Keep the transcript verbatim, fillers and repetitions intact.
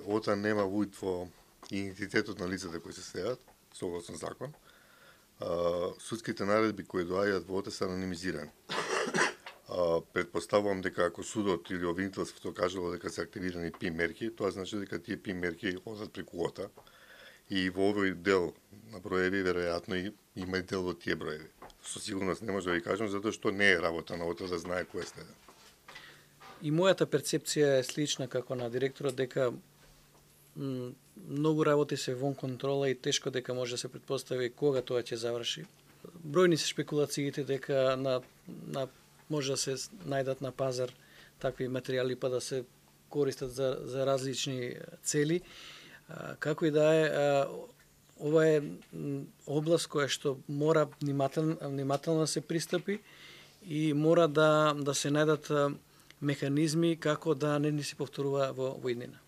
Ота нема уид во идентитетот на лицата кои се следат, согласно закон. А, судските наредби кои доаѓаат во Ота се анонимизирани. А, предпоставувам дека ако судот или обвинителството кажало дека се активирани пи мерки, тоа значи дека тие пи мерки одат преку Ота. И во овој дел на броеви, веројатно има и дел од тие броеви. Со сигурност не може да ви кажам, затоа што не е работа на Ота да знае кој следа. И мојата перцепција е слична како на директорот, дека многу работи се вон контрола и тешко дека може да се претпостави кога тоа ќе заврши. Бројни се шпекулациите дека на, на може да се најдат на пазар такви материјали па да се користат за, за различни цели. А, како и да е, а, ова е област која што мора внимателно, внимателно да се пристапи и мора да, да се најдат механизми како да не ни се повторува во, во иднина.